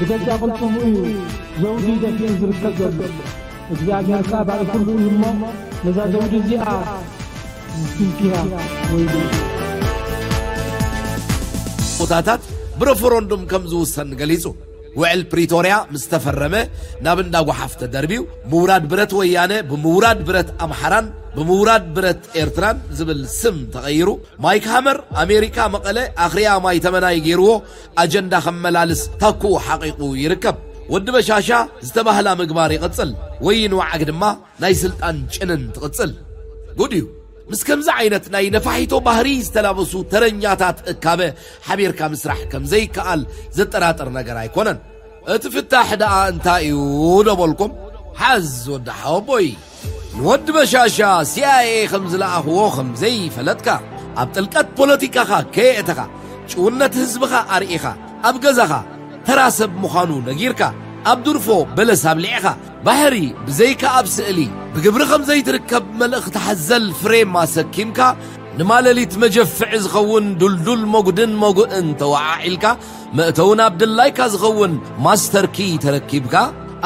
ብገዛእ ቅልጽሙ እዩ ዘውዲ ደፊኡ ዝርከብ ዘሎ። እግዚኣብሔር ከኣ ባሪኹልኩም እሞ ነዛ ዘውዲ እዚኣ ስንኪራ ወይሉ። ቦታታት ብረፈረንዱም ከም ዝውሰን ገሊጹ። ውዕል ፕሪቶርያ ምስ ተፈረመ ናብ እንዳ ጓሓፍ ተደርብዩ፣ ምውራድ ብረት ወያነ ብምውራድ ብረት ኣምሓራን ብምውራድ ብረት ኤርትራን ዝብል ስም ተቐይሩ። ማይክ ሃመር ኣሜሪካ መቐለ ኣኽርያ ማይ ተመናይ ገይርዎ ኣጀንዳ ከመላልስ ታኩኡ ሓቒቑ ይርከብ። ወዲ በሻሻ ዝተባህላ ምግባር ይቕጽል። ወይን ወዓግ ድማ ናይ ስልጣን ጭንን ትቕጽል። ጉድ እዩ። ምስ ከምዚ ዓይነት ናይ ነፋሒቶ ባህሪ ዝተላበሱ ተረኛታት እካበ ሓቢርካ ምስራሕ ከም ዘይከኣል ዘጠራጥር ነገር ኣይኮነን። እቲ ፍታሕ ደኣ እንታይ እዩ ዶ በልኩም? ሓዝ ወዲ ሓወቦይ። ንወዲ በሻሻ ሲኣይኤ ከም ዝለኣኽዎ ከም ዘይፈለጥካ፣ ኣብ ጥልቀት ፖለቲካኻ ከየእተኻ፣ ጭውነት ህዝብኻ ኣርኢኻ፣ ኣብ ገዛኻ ተራ ሰብ ምዃኑ ነጊርካ፣ ኣብ ድርፎ በለስ ኣብሊዕኻ፣ ባሕሪ ብዘይካ ኣብ ስእሊ ብግብሪ ከም ዘይትርከብ መልእኽቲ ሓዘል ፍሬም ኣሰኪምካ፣ ንማለሊት መጀፍዒ ዝኸውን ዱልዱል መጉድን መጉእን ተወዓዒልካ፣ መእተዊ ናብ ድላይካ ዝኸውን ማስተር ኪ ተረኪብካ፣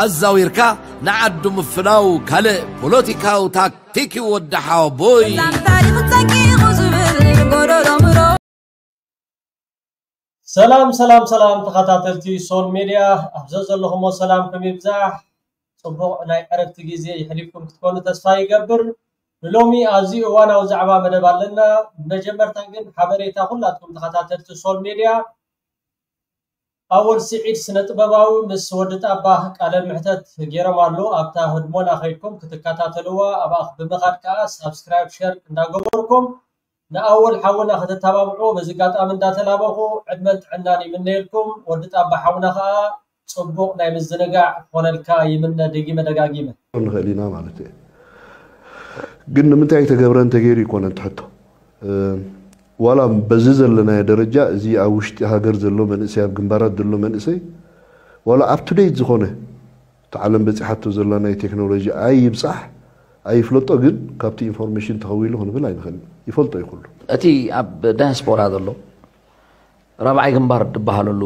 ኣዛዊርካ ንዓዱ ምፍናው ካልእ ፖለቲካዊ ታክቲክ እዩ ወዲ ሓወቦይ። ዛንታ ታሪኽ ጸቂቑ ዝብል ጎደሎ ምሮ ሰላም ሰላም ሰላም ተኸታተልቲ ሶል ሜድያ ኣብ ዘዘለኹሞ ሰላምኩም ይብዛሕ። ጽቡቕ ናይ ዕረፍቲ ግዜ ይሕሊፍኩም ክትኮኑ ተስፋ ይገብር። ንሎሚ ኣዝዩ እዋናዊ ዛዕባ መደብ ኣለና። ብመጀመርታ ግን ሓበሬታ ኩላትኩም ተኸታተልቲ ሶል ሜድያ ኣወል ስዒድ ስነ ጥበባዊ ምስ ወዲ ጣባ ቃለ ምሕተት ገይሮም ኣሎ። ኣብታ ህድሞና ከይድኩም ክትከታተልዋ ኣብኣ ብምኻድ ከኣ ሳብስክራይብ ሸር እንዳገበርኩም ንኣወል ሓውና ከተተባብዑ በዚ ኣጋጣሚ እንዳተላበኹ ዕድመን ጥዕናን ይምነየልኩም። ወዲ ጣባ ሓውና ከኣ ጽቡቕ ናይ ምዝንጋዕ ክኾነልካ ይምነ ደጊመ ደጋጊመ። ንኽእል ኢና ማለት እየ። ግን ንምንታይ ተገብረ እንተገይሩ ይኮነ እቲ ሕቶ። ዋላ በዚ ዘለናዮ ደረጃ እዚ ኣብ ውሽጢ ሃገር ዘሎ መንእሰይ ኣብ ግንባራት ዘሎ መንእሰይ ዋላ up to date ዝኾነ እቲ ዓለም በፂሓቶ ዘላ ናይ ቴክኖሎጂ ኣይብፃሕ ኣይፍለጦ ግን ካብቲ ኢንፎርሜሽን ተኸዊሉ ክንብል ኣይንኽእል ይፈልጦ እዩ ኩሉ። እቲ ኣብ ዳያስፖራ ዘሎ ራብዓይ ግንባር ዝበሃለሉ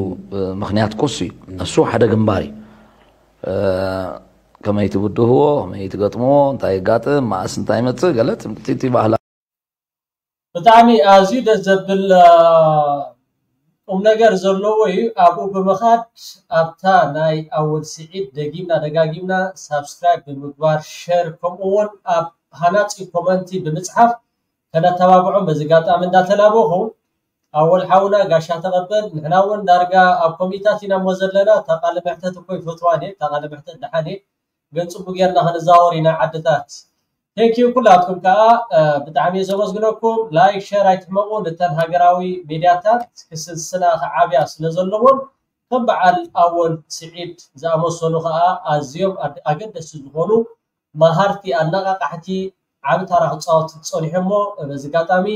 ምኽንያት ኮሱ እዩ። እሱ ሓደ ግንባር እዩ። ከመይ ትብድህዎ፣ ከመይ ትገጥምዎ፣ እንታይ የጋጥም፣ መኣስ እንታይ ይመፅእ፣ ገለ እቲ ባህላ ብጣዕሚ ኣዝዩ ደስ ዘብል ቁም ነገር ዘለዎ እዩ። ኣብኡ ብምኻድ ኣብታ ናይ ኣወል ስዒድ ደጊምና ደጋጊምና ሳብስክራይብ ብምግባር ሸር ከምኡ እውን ኣብ ሃናፂ ኮመንቲ ብምፅሓፍ ከነተባብዖም በዚ ኣጋጣሚ እንዳተላበኹ ኣወል ሓውና ጋሻ ተቐበል። ንሕና እውን ዳርጋ ኣብ ኮሚታት ኢና እሞ ዘለና። እታ ቃለ መሕተት እኮ ይፈትዋ እየ፣ እታ ቃለ መሕተት ደሓን እየ፣ ግን ፅቡቅ ጌርና ክንዛወር ኢና ዓድታት። Thank you ኩላትኩም ከዓ ብጣዕሚ እየ ዘመስግነኩም። ላይክ ሸር ኣይትሕመቁ። ንተን ሃገራዊ ሚድያታት ክስስና ክዓብያ ስለ ዘለዎን ከም በዓል ኣወል ስዒድ ዝኣመሰሉ ከዓ ኣዝዮም ኣገደስቲ ዝኾኑ መሃርቲ ኣነቃቃሕቲ ዓቢ ታራ ክፃወት ፀኒሑ እሞ በዚ ኣጋጣሚ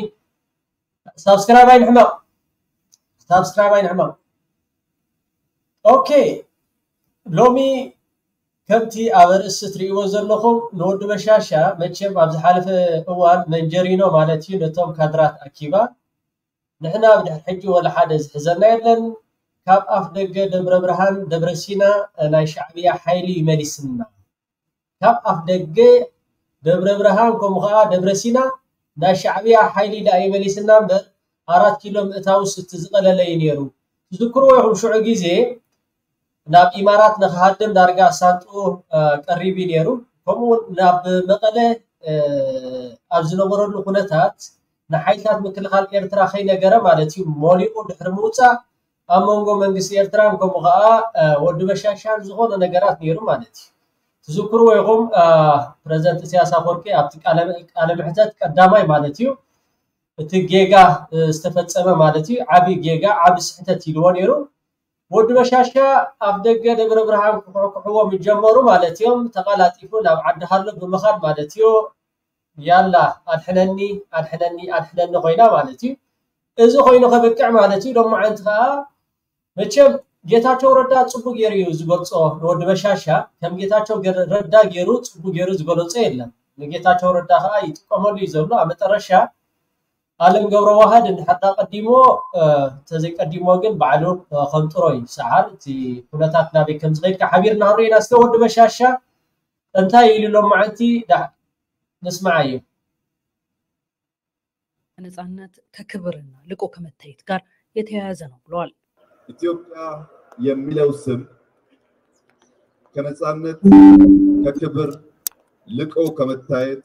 ሳብስክራይብ ኣይንሕመቕ። ሳብስክራይብ ኣይንሕመቕ። ኦኬ ሎሚ ከምቲ ኣብ ኣርእስቲ እትርእይዎ ዘለኹም ንወዲ በሻሻ መቸም ኣብ ዝሓለፈ እዋን መንጀሪኖ ማለት እዩ ነቶም ካድራት ኣኪባ ንሕና ብድሕሪ ሕጂ ወላ ሓደ ዝሕዘና የለን ካብ ኣፍ ደገ ደብረ ብርሃን ደብረ ሲና ናይ ሻዕብያ ሓይሊ ይመሊስና ካብ ኣፍ ደገ ደብረ ብርሃን ከምኡ ከዓ ደብረ ሲና ናይ ሻዕብያ ሓይሊ ዳኣ ይመሊስና እምበር ኣራት ኪሎ ምእታውስ እቲ ዝቐለለ እዩ ነይሩ። ትዝክርዎ ኢኹም ሽዑ ግዜ ናብ ኢማራት ንክሃድም ዳርጋ ሳንጥኡ ቀሪቡ ነይሩ። ከምኡ እውን ናብ መቐለ ኣብ ዝነበረሉ ኩነታት ንሓይልታት ምክልኻል ኤርትራ ከይነገረ ማለት እዩ መሊኡ ድሕሪ ምውፃእ ኣብ መንጎ መንግስቲ ኤርትራን ከምኡ ከዓ ወዲ በሻሻን ዝኾነ ነገራት ነይሩ ማለት እዩ። ትዝክርዎ ኢኹም ፕረዚደንት ኢሳያስ ኣፈወርቂ ኣብቲ ቃለ ምሕተት ቀዳማይ ማለት እዩ እቲ ጌጋ ዝተፈፀመ ማለት እዩ ዓብዪ ጌጋ ዓብዪ ስሕተት ኢልዎ ነይሩ። ወዲ በሻሻ ኣብ ደገ ደብረ ብርሃን ክኩሕኩሕዎ ምስ ጀመሩ ማለት እዮም ተቐላጢፉ ናብ ዓዲ ሃሎ ብምኻድ ማለት እዩ ያላ ኣድሕነኒ ኣድሕነኒ ኣድሕነኒ ኮይና ማለት እዩ። እዚ ኮይኑ ከብቅዕ ማለት እዩ ሎማዓንቲ ከዓ መቸም ጌታቸው ረዳ ፅቡቅ ገይሩ እዩ ዝገልፆ ንወዲ በሻሻ ከም ጌታቸው ረዳ ገይሩ ፅቡቅ ገይሩ ዝገለፆ የለን። ንጌታቸው ረዳ ከዓ ይጥቀመሉ እዩ ዘሎ ኣብ መጠረሻ ኣለም ገብረ ዋህድ እንድሕር ቀዲሞ፣ ተዘይቀዲሞ ግን ባዕሉ ከምጥሮ እዩ ሰዓል። እቲ ኩነታት ናበይ ከም ዝኸይድ ሓቢርና ክንሪኦ ኢና። እስከ ወዲ በሻሻ እንታይ ኢሉ ሎም መዓልቲ ንስማዓዮ። ከነፃነት ከክብርና ልቆ ከመታየት ጋር የተያያዘ ነው ብለዋል። ኢትዮጵያ የሚለው ስም ከነፃነት ከክብር ልቆ ከመታየት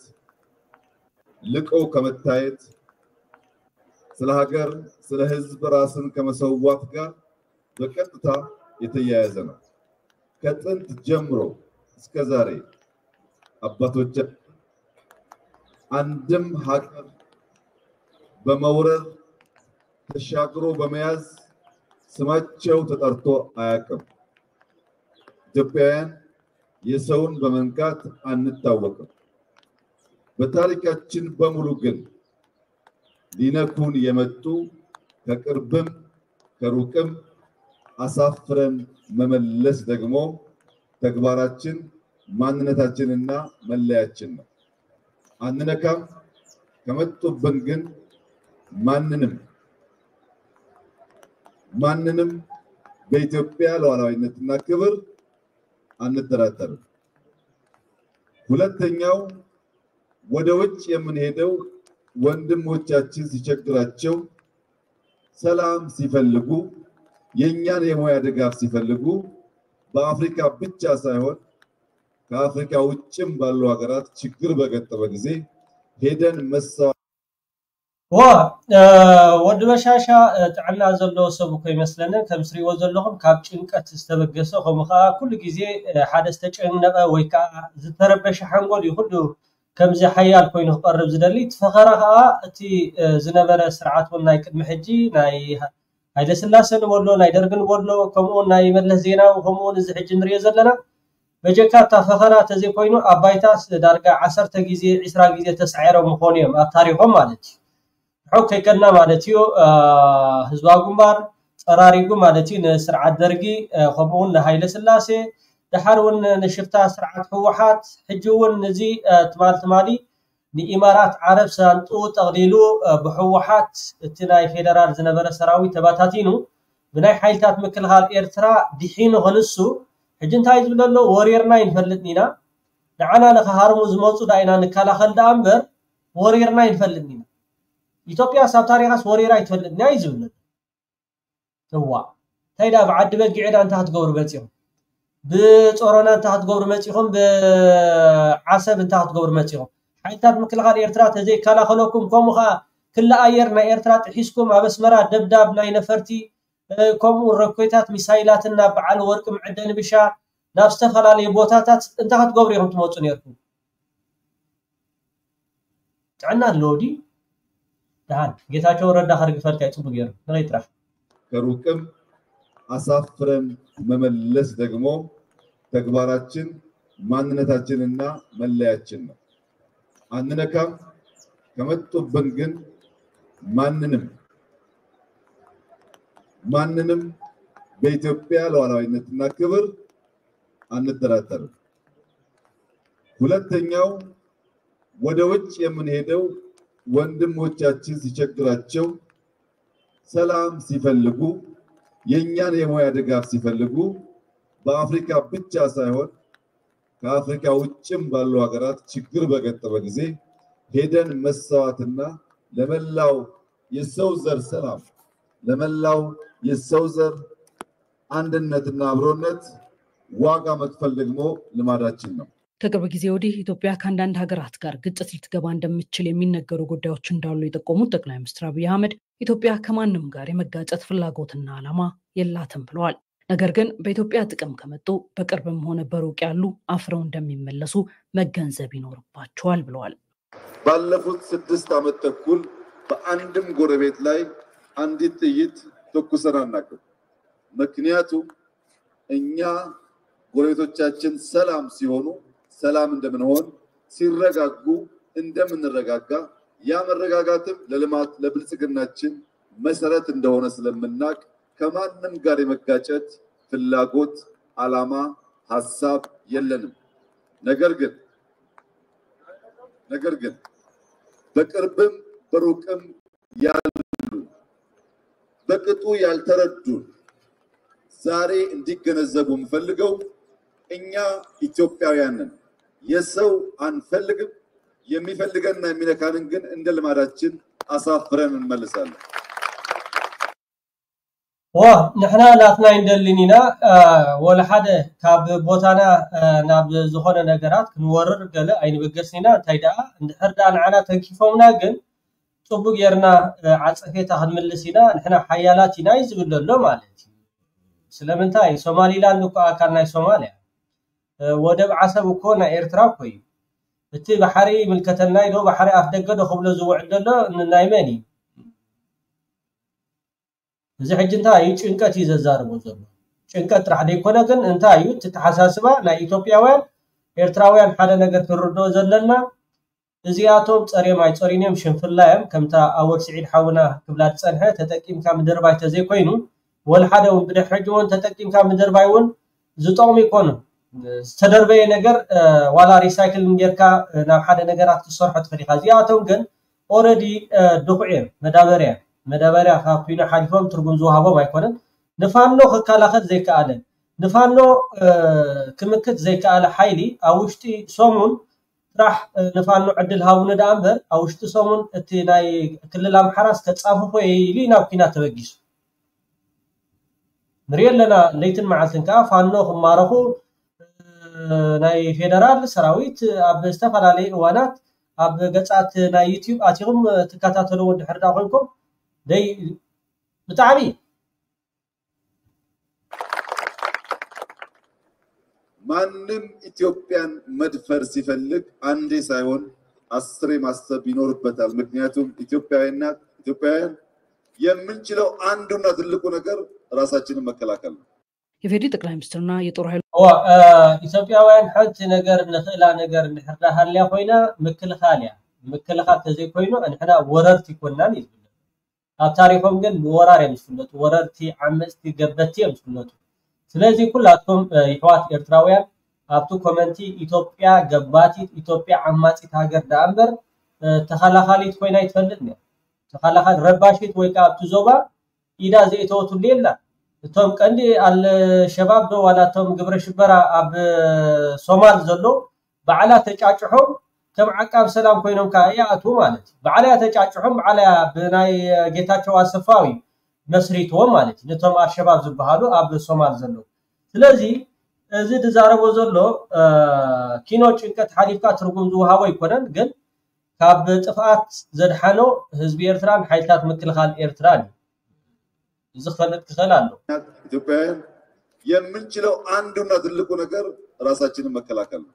ልቆ ከመታየት ስለ ሀገር ስለ ህዝብ ራስን ከመሰዋት ጋር በቀጥታ የተያያዘ ነው። ከጥንት ጀምሮ እስከ ዛሬ አባቶቻችን አንድም ሀገር በመውረር ተሻግሮ በመያዝ ስማቸው ተጠርቶ አያውቅም። ኢትዮጵያውያን የሰውን በመንካት አንታወቅም። በታሪካችን በሙሉ ግን ሊነኩን የመጡ ከቅርብም ከሩቅም አሳፍረን መመለስ ደግሞ ተግባራችን ማንነታችንና መለያችን ነው። አንነካም። ከመጡብን ግን ማንንም ማንንም በኢትዮጵያ ሉዓላዊነትና ክብር አንጠራጠርም። ሁለተኛው ወደ ውጭ የምንሄደው ወንድሞቻችን ሲቸግራቸው ሰላም ሲፈልጉ የእኛን የሙያ ድጋፍ ሲፈልጉ በአፍሪካ ብቻ ሳይሆን ከአፍሪካ ውጭም ባሉ ሀገራት ችግር በገጠመ ጊዜ ሄደን መሰዋ ዋ ወዲ በሻሻ ጥዕና ዘለዎ ሰብ እኮ ይመስለንን። ከም ስሪዎ ዘለኹም ካብ ጭንቀት ዝተበገሰ ከምኡ ከዓ ኩሉ ግዜ ሓደ ዝተጨነቐ ወይ ከዓ ዝተረበሸ ሓንጎል እዩ ኩሉ ከምዚ ሓያል ኮይኑ ክቐርብ ዝደሊ። እቲ ፈኸራ ከዓ እቲ ዝነበረ ስርዓት እውን ናይ ቅድሚ ሕጂ ናይ ሃይለስላሰ ንበሎ ናይ ደርግ ንበሎ ከምኡውን ናይ መለስ ዜናዊ ከምኡውን እዚ ሕጂ ንሪኦ ዘለና በጀካ እታ ፈኸራ ተዘይኮይኑ ኣብ ባይታ ዳርጋ ዓሰርተ ግዜ ዒስራ ግዜ ተሳዒሮም ምኾኑ እዮም ኣብ ታሪኾም ማለት እዩ። ርሑቕ ከይከድና ማለት እዩ ህዝባዊ ግንባር ፀራሪጉ ማለት እዩ ንስርዓት ደርጊ ከምኡውን ንሃይለ ስላሴ ደሓር እውን ንሽፍታ ስርዓት ህወሓት ሕጂ እውን ንዚ ትማል ትማሊ ንኢማራት ዓረብ ሳንጡ ጠቕሊሉ ብህወሓት እቲ ናይ ፌደራል ዝነበረ ሰራዊት ተባታቲኑ ብናይ ሓይልታት ምክልኻል ኤርትራ ድሒኑ ክንሱ ሕጂ እንታይ ዝብል ኣሎ ወሪርና ይንፈልጥን ኢና ንዓና ንኸሃርሙ ዝመፁ ዳ ኢና ንከላኸል ደኣ እምበር ወሪርና ይንፈልጥን ኢና ኢትዮጵያ ሳብ ታሪኻስ ወሪራ ይትፈልጥን እያ እዩ ዝብል እዋ እንታይ ዳ ብዓዲ በጊዕ ዳ እንታይ ክትገብሩ መፂኹም ብፆሮና እንታይ ክትገብሩ መፂኹም ብዓሰብ እንታይ ክትገብሩ መፂኹም ሓይልታት ምክልኻል ኤርትራ ተዘይከላኸለኩም ከምኡ ከዓ ክሊ ኣየር ናይ ኤርትራ ጥሒስኩም ኣብ ኣስመራ ደብዳብ ናይ ነፈርቲ ከምኡ ረኮይታት ሚሳይላትን ናብ በዓል ወርቂ መዐደኒ ብሻ ናብ ዝተፈላለዩ ቦታታት እንታይ ክትገብሩ ኢኹም ትመፁ ነርኩም ጥዕና ኣለዎ ድዩ ደሓን ጌታቸው ረዳ ከርግፈልካ እዩ ፅቡቅ ገይሩ ንኸይ ጥራሕ ከሩቅም አሳፍረን መመለስ ደግሞ ተግባራችን ማንነታችንና መለያችን ነው። አንነካም። ከመጡብን ግን ማንንም ማንንም በኢትዮጵያ ሉዓላዊነትና ክብር አንጠራጠርም። ሁለተኛው ወደ ውጭ የምንሄደው ወንድሞቻችን ሲቸግራቸው ሰላም ሲፈልጉ የእኛን የሙያ ድጋፍ ሲፈልጉ በአፍሪካ ብቻ ሳይሆን ከአፍሪካ ውጭም ባሉ ሀገራት ችግር በገጠመ ጊዜ ሄደን መሰዋትና ለመላው የሰው ዘር ሰላም ለመላው የሰው ዘር አንድነትና አብሮነት ዋጋ መክፈል ደግሞ ልማዳችን ነው። ከቅርብ ጊዜ ወዲህ ኢትዮጵያ ከአንዳንድ ሀገራት ጋር ግጭት ልትገባ እንደምትችል የሚነገሩ ጉዳዮች እንዳሉ የጠቆሙት ጠቅላይ ሚኒስትር አብይ አህመድ ኢትዮጵያ ከማንም ጋር የመጋጨት ፍላጎትና ዓላማ የላትም ብለዋል። ነገር ግን በኢትዮጵያ ጥቅም ከመጡ በቅርብም ሆነ በሩቅ ያሉ አፍረው እንደሚመለሱ መገንዘብ ይኖርባቸዋል ብለዋል። ባለፉት ስድስት ዓመት ተኩል በአንድም ጎረቤት ላይ አንዲት ጥይት ተኩሰን አናውቅም። ምክንያቱም እኛ ጎረቤቶቻችን ሰላም ሲሆኑ ሰላም እንደምንሆን፣ ሲረጋጉ እንደምንረጋጋ፣ ያ መረጋጋትም ለልማት ለብልጽግናችን መሰረት እንደሆነ ስለምናውቅ ከማንም ጋር የመጋጨት ፍላጎት፣ ዓላማ፣ ሐሳብ የለንም። ነገር ግን ነገር ግን በቅርብም በሩቅም ያሉ በቅጡ ያልተረዱን ዛሬ እንዲገነዘቡ የምፈልገው እኛ ኢትዮጵያውያንን የሰው አንፈልግም። የሚፈልገንና የሚነካንን ግን እንደ ልማዳችን አሳፍረን እንመልሳለን። ዋ ንሕና ናትና ኣይንደልን ኢና። ወላ ሓደ ካብ ቦታና ናብ ዝኾነ ነገራት ክንወርር ገለ ኣይንበገስን ኢና። እንታይ ደኣ እንድሕር ደኣ ንዓና ተንኪፎምና ግን ጽቡቅ ጌርና ዓጸፌታ ክንምልስ ኢና። ንሕና ሓያላት ኢና እዩ ዝብል ዘሎ ማለት እዩ። ስለምንታይ ሶማሊላንድ እኮ ኣካል ናይ ሶማልያ፣ ወደብ ዓሰብ እኮ ናይ ኤርትራ እኮ እዩ። እቲ ባሕሪ ይምልከተና ዶ ባሕሪ ኣፍ ደገ ዶ ክብሎ ዝውዕል ዘሎ ናይ መን እዩ? እዚ ሕጂ እንታይ እዩ ጭንቀት እዩ ዘዛርቦ ዘሎ። ጭንቀት ጥራሕ ዘይኮነ ግን እንታይ እዩ እቲ ተሓሳስባ ናይ ኢትዮጵያውያን ኤርትራውያን ሓደ ነገር ክንርድኦ ዘለና እዚኣቶም ጸርዮም ኣይጸርዩን እዮም ሽንፍላ እዮም። ከምታ ኣወል ስዒድ ሓውና ክብላ ዝጸንሐ ተጠቂምካ ምድርባይ ተዘይኮይኑ ወላ ሓደ እውን ብድሕሪ ሕጂ እውን ተጠቂምካ ምድርባይ እውን ዝጠቕሙ ይኮኑ። ዝተደርበየ ነገር ዋላ ሪሳይክል ጌርካ ናብ ሓደ ነገራት ክትሰርሖ ትኽእል ኢኻ። እዚኣቶም ግን ኦረዲ ድኹዕ እዮም። መዳበርያ መዳበርያ ካብ ኩይኑ ሓሊፎም ትርጉም ዝወሃቦም ኣይኮነን። ንፋኖ ክከላኸል ዘይከኣለ ንፋኖ ክምክት ዘይከኣለ ሓይሊ ኣብ ውሽጢ ሰሙን ጥራሕ ንፋኖ ዕድል ሃቡኒ ደኣ እምበር ኣብ ውሽጢ ሰሙን እቲ ናይ ክልል ኣምሓራስ ከጻፍፎ ኢሉ ናብ ኲናት ተበጊሱ። ንሪኦ ኣለና ለይትን መዓልትን ከዓ ፋኖ ክማረኹ ናይ ፌደራል ሰራዊት ኣብ ዝተፈላለዩ እዋናት ኣብ ገጻት ናይ ዩቲዩብ ኣቲኹም ትከታተልዎ እንድሕር ዳ ኮይንኩም ደይ ብጣዕሚ ማንም ኢትዮጵያን መድፈር ሲፈልግ አንዴ ሳይሆን አስሬ ማሰብ ይኖርበታል። ምክንያቱም ኢትዮጵያዊና ኢትዮጵያውያን የምንችለው አንዱና ትልቁ ነገር ራሳችንን መከላከል ነው። የፌዴሪ ጠቅላይ ሚኒስትርና የጦር ኃይሉ እዋ ኢትዮጵያውያን ሓንቲ ነገር ንኽእላ ነገር እንድሕር ሃልያ ኮይና ምክልኻል እያ። ምክልኻል ተዘይኮይኑ ንሕና ወረርቲ ይኮናን እዩ ዝብል ኣብ ታሪኾም ግን ብወራር እዮም ዝፍለጡ። ወረርቲ፣ ዓመፅቲ፣ ገበቲ እዮም ዝፍለጡ። ስለዚ ኩላትኩም ይሕዋት ኤርትራውያን ኣብቲ ኮመንቲ ኢትዮጵያ ገባቲት፣ ኢትዮጵያ ዓማፂት ሃገር ደኣ እምበር ተኸላኻሊት ኮይና ይትፈልጥ ነር። ተኸላኻሊ ረባሺት ወይ ከዓ ኣብቲ ዞባ ኢዳ ዘይተወትሉ የላ። እቶም ቀንዲ ኣልሸባብ ዶ ዋላ እቶም ግብረ ሽበራ ኣብ ሶማል ዘሎ ባዕላ ተጫጭሖም ከም ዓቃብ ሰላም ኮይኖም ከዓ ይኣትዉ ማለት እዩ። ባዕላ ተጫጭሖም ባዕላ ብናይ ጌታቸው ኣሰፋዊ መስሪትዎም ማለት እዩ። ነቶም ኣልሸባብ ዝበሃሉ ኣብ ሶማል ዘለዉ። ስለዚ እዚ ዝዛረቦ ዘሎ ኪኖ ጭንቀት ሓሊፍካ ትርጉም ዝወሃቦ ኣይኮነን፣ ግን ካብ ጥፍኣት ዘድሓኖ ህዝቢ ኤርትራን ሓይልታት ምክልኻል ኤርትራን እዩ። እዚ ክፈልጥ ክኽእል ኣሎ። ኢትዮጵያውያን የምንችለው አንዱና ትልቁ ነገር ራሳችንን መከላከል ነው።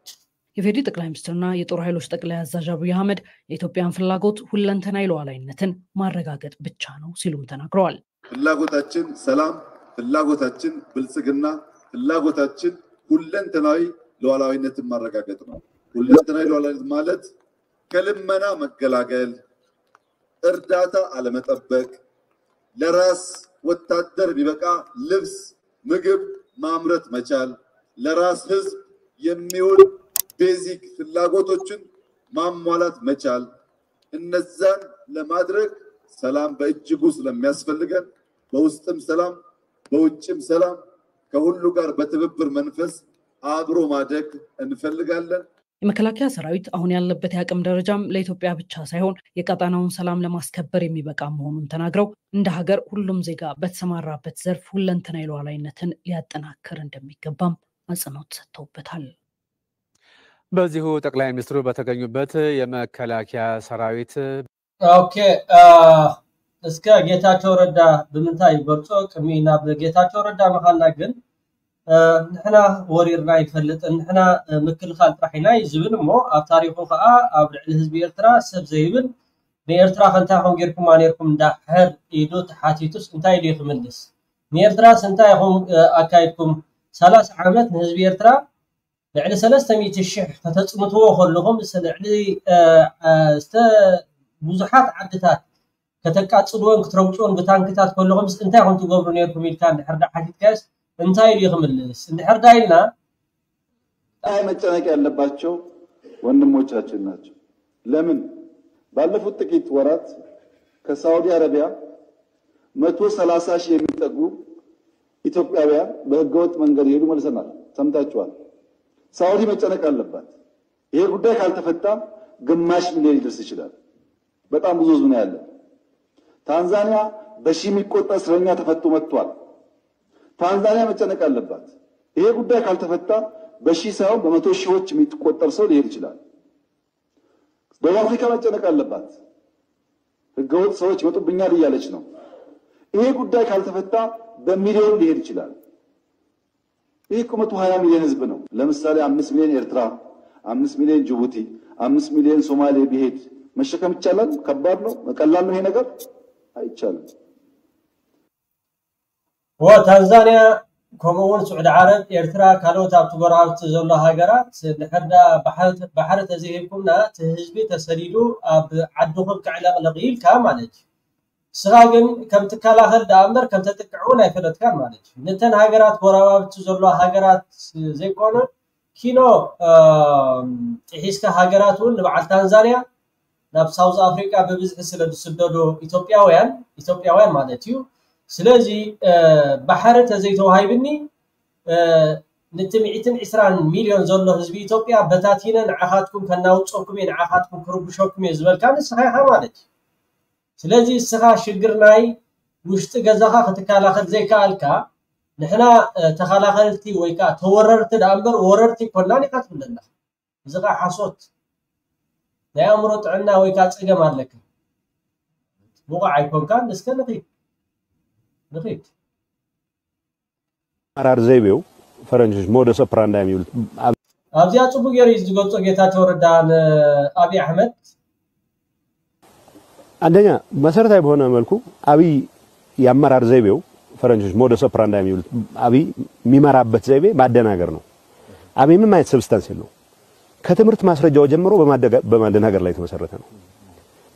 የፌዴሪ ጠቅላይ ሚኒስትርና የጦር ኃይሎች ጠቅላይ አዛዥ አብይ አህመድ የኢትዮጵያን ፍላጎት ሁለንተናዊ ሉዓላዊነትን ማረጋገጥ ብቻ ነው ሲሉም ተናግረዋል። ፍላጎታችን ሰላም፣ ፍላጎታችን ብልጽግና፣ ፍላጎታችን ሁለንተናዊ ሉዓላዊነትን ማረጋገጥ ነው። ሁለንተናዊ ሉዓላዊነት ማለት ከልመና መገላገል፣ እርዳታ አለመጠበቅ፣ ለራስ ወታደር የሚበቃ ልብስ፣ ምግብ ማምረት መቻል፣ ለራስ ህዝብ የሚውል ቤዚክ ፍላጎቶችን ማሟላት መቻል፣ እነዛን ለማድረግ ሰላም በእጅጉ ስለሚያስፈልገን በውስጥም ሰላም በውጭም ሰላም ከሁሉ ጋር በትብብር መንፈስ አብሮ ማደግ እንፈልጋለን። የመከላከያ ሰራዊት አሁን ያለበት የአቅም ደረጃም ለኢትዮጵያ ብቻ ሳይሆን የቀጣናውን ሰላም ለማስከበር የሚበቃ መሆኑን ተናግረው እንደ ሀገር ሁሉም ዜጋ በተሰማራበት ዘርፍ ሁለንተናዊ ሉዓላዊነትን ሊያጠናክር እንደሚገባም አጽንኦት ሰጥተውበታል። በዚሁ ጠቅላይ ሚኒስትሩ በተገኙበት የመከላከያ ሰራዊት ኦኬ እስከ ጌታቸው ረዳ ብምንታይ ይገልጾ? ቅድሚ ናብ ጌታቸው ረዳ ምኻና ግን ንሕና ወሪርና ይፈልጥን ንሕና ምክልኻል ጥራሕ ኢና እዩ ዝብል እሞ ኣብ ታሪኹ ከዓ ኣብ ልዕሊ ህዝቢ ኤርትራ ሰብ ዘይብል ንኤርትራ ከንታይ ከም ጌርኩማ ነርኩም እንዳሕር ኢሉ ተሓቲቱስ እንታይ ኢሉ እዩ ክምልስ? ንኤርትራስ እንታይ ኢኹም ኣካይድኩም? ሰላሳ ዓመት ንህዝቢ ኤርትራ ልዕሊ ሰለስተ ሚእቲ ሽሕ ከተፅንትዎ ከለኹም ምስ ልዕሊ ዝተ ብዙሓት ዓድታት ከተቃፅልዎን ክትረግፅዎን ብታንክታት ከለኹምስ እንታይ ከም ትገብሩ ነርኩም ኢልካ እንድሕር ዳ ሓቲትካዮስ እንታይ ኢሉ ክምልስ እንድሕር ዳ ኢልና አይ መጨነቅ ያለባቸው ወንድሞቻችን ናቸው። ለምን ባለፉት ጥቂት ወራት ከሳውዲ አረቢያ መቶ ሠላሳ ሺህ የሚጠጉ ኢትዮጵያውያን በህገወጥ መንገድ ይሄዱ መልሰናል። ሰምታችኋል። ሳውዲ መጨነቅ አለባት። ይሄ ጉዳይ ካልተፈታ ግማሽ ሚሊዮን ሊደርስ ይችላል። በጣም ብዙ ህዝብ ነው ያለ። ታንዛኒያ በሺህ የሚቆጠር እስረኛ ተፈቶ መጥቷል። ታንዛኒያ መጨነቅ አለባት። ይሄ ጉዳይ ካልተፈታ በሺህ ሳይሆን በመቶ ሺዎች የሚቆጠር ሰው ሊሄድ ይችላል። ደቡብ አፍሪካ መጨነቅ አለባት። ህገወጥ ሰዎች ይመጡብኛል እያለች ነው። ይሄ ጉዳይ ካልተፈታ በሚሊዮን ሊሄድ ይችላል። ይህ እኮ መቶ ሃያ ሚሊዮን ህዝብ ነው። ለምሳሌ አምስት ሚሊዮን ኤርትራ፣ አምስት ሚሊዮን ጅቡቲ፣ አምስት ሚሊዮን ሶማሌ ቢሄድ መሸከም ይቻላል? ከባድ ነው? ቀላል ነው ይሄ ነገር? አይቻልም። ወ ታንዛንያ ከምኡ እውን ስዑዲ ዓረብ፣ ኤርትራ፣ ካልኦት ኣብቲ ጎረባብቲ ዘሎ ሃገራት ድሕር ዳ ባሕሪ ተዘይሂብኩምና እቲ ህዝቢ ተሰዲዱ ኣብ ዓድኹም ክዕለቕልቕ ኢልካ ማለት እዩ። ንስኻ ግን ከም ትከላኸል ደኣ እምበር ከም ተጥቅዕ እውን ኣይፈለጥካን ማለት እዩ። ነተን ሃገራት ጎረባብቲ ዘሎ ሃገራት ዘይኮነ ኪኖ ጥሒስካ ሃገራት እውን ንበዓል ታንዛንያ ናብ ሳውዝ ኣፍሪቃ ብብዝሒ ስለ ዝስደዱ ኢትዮጵያውያን ኢትዮጵያውያን ማለት እዩ። ስለዚ ባሕሪ ተዘይተዋሂብኒ ነቲ ሚእትን ዕስራን ሚልዮን ዘሎ ህዝቢ ኢትዮጵያ በታቲነ ንዓኻትኩም ከናውፀኩም እየ ንዓኻትኩም ክርብሸኩም እየ ዝበልካ ንስኻ ኢኻ ማለት እዩ። ስለዚ እስኻ ሽግር ናይ ውሽጢ ገዛኻ ክትከላኸል ዘይከኣልካ ንሕና ተኸላኸልቲ ወይ ከዓ ተወረርቲ ደኣ እምበር ወረርቲ ይኮናን ኢኻ ትብል ኣለኻ። እዚ ከዓ ሓሶት ናይ ኣእምሮ ጥዕና ወይ ከዓ ፀገም ኣለካ። ብቑዕ ኣይኮንካን። እስከ ንኺድ ንኺድ አመራር ዘይቤው ፈረንጆች ሞደስ ኦፕራንዳይ የሚሉት ኣብዚኣ ፅቡቅ ገይሩ እዩ ዝገልፆ ጌታቸው ረዳ ንኣብይ ኣሕመድ። አንደኛ መሰረታዊ በሆነ መልኩ አብይ የአመራር ዘይቤው ፈረንጆች ሞደስ ኦፕራንዳይ የሚሉት አብይ የሚመራበት ዘይቤ ማደናገር ነው። አብይ ምንም አይነት ሰብስታንስ የለው። ከትምህርት ማስረጃው ጀምሮ በማደናገር ላይ የተመሰረተ ነው።